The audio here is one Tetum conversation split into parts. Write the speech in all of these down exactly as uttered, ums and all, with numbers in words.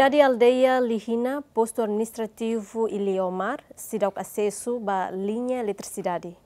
Cidade aldeia Lihina, postu administrativu Iliomar, seidauk asesu ba liña eletrisidade.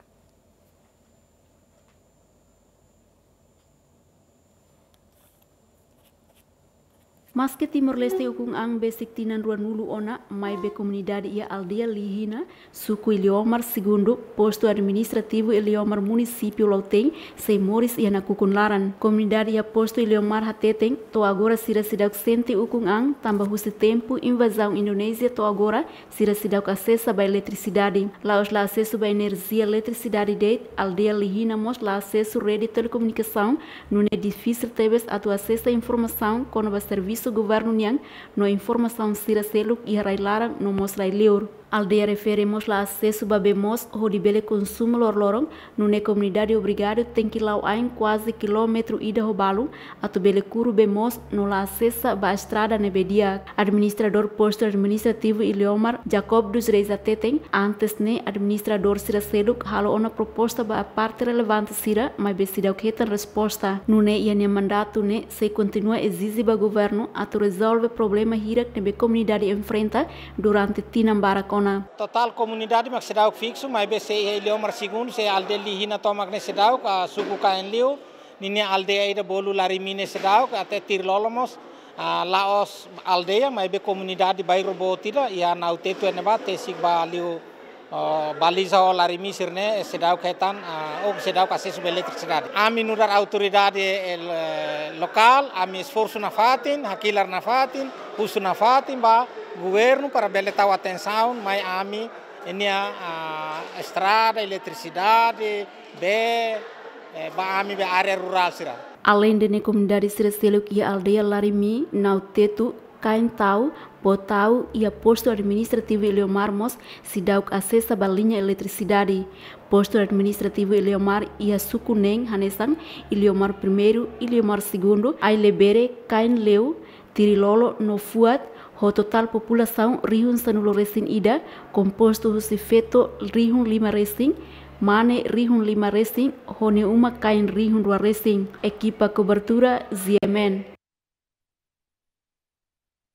Maske Timor-Leste ukun an besik tinan ruanulu ona, maibé komunidade iha aldeia Lihina, suku Iliomar Segundu, postu administrativu Iliomar, munisípiu Lautém, sei moris iha nakukun laran. Komunidade iha postu Iliomar hateten, to'o agora sira seidauk sente ukun an, tanba husi tempu invazaun Indonézia to'o agora, sira seidauk asesa ba eletrisidade. La'ós la asesu ba enerjia eletrisidade de'it, aldeia Lihina mós la asesu rede telekomunikasaun, nune'e difisil tebes atu asesa informasaun kona-ba servisu governu nian, no informasaun sira seluk iha rai-laran no mós rai-liur. Aldeia refere mós la asesu ba bee moos hodi bele konsumu loroloron, nune'e komunidade obrigadu tenke la'o ain kuaze kilómetru ida ho balun, atu bele kuru bee moos no la asesa ba estrada ne'ebé di'ak. Administradór postu administrativu Iliomar, Jacob dos Reis hateten, antes ne'e administradór sira seluk halo ona proposta ba parte relevante sira, maibé seidauk hetan resposta. Nune'e iha nia mandatu ne'e sei kontinua ezije ba governu atu rezolve problema hirak ne'ebé komunidade enfrenta durante tinan barak ona. Totál komunidade mak seidauk fiksu, maibé sei iha Iliomar Segundu, sei aldeia Lihina tomak ne'e seidauk, ah, suku Kaen Liu, ninia aldeia ida bolu Larimi ne'e seidauk, até Tirilolo mós, ah, la'ós aldeia, maibé komunidade bairru boot ida, iha Nau Tetu ne'ebá, tesik ba liu, oh, Baliza ho Larimi sira-ne'e, seidauk hetan, ah, ou seidauk asesu ba eletrisidade. Ami nu'udar autoridade, eh, lokál, ami esforsu nafatin, hakilar nafatin, husu nafatin ba governu para bele tau atensaun mai ami, ninia, ah, estrada, eletrisidade, bee, eh, ba ami be área rurál sira. Aleinde ne'e komunidade sira seluk iha aldeia Larimi, Nau Tetu, Kaen Tau, Botau, iha postu administrativu Iliomar mós seidauk asesa ba liña eletrisidade. Postu administrativu Iliomar iha suku neen hanesan Iliomar Primeiru, Iliomar Segundu, Ailebere, Kaen Liu, Tirilolo no Fuat, ho totál populasaun rihun sanulu resin ida, kompostu husi feto rihun lima resin, mane rihun lima resin, ho nia uma-kain rihun rua resin. Ekipa kobertura Z M N.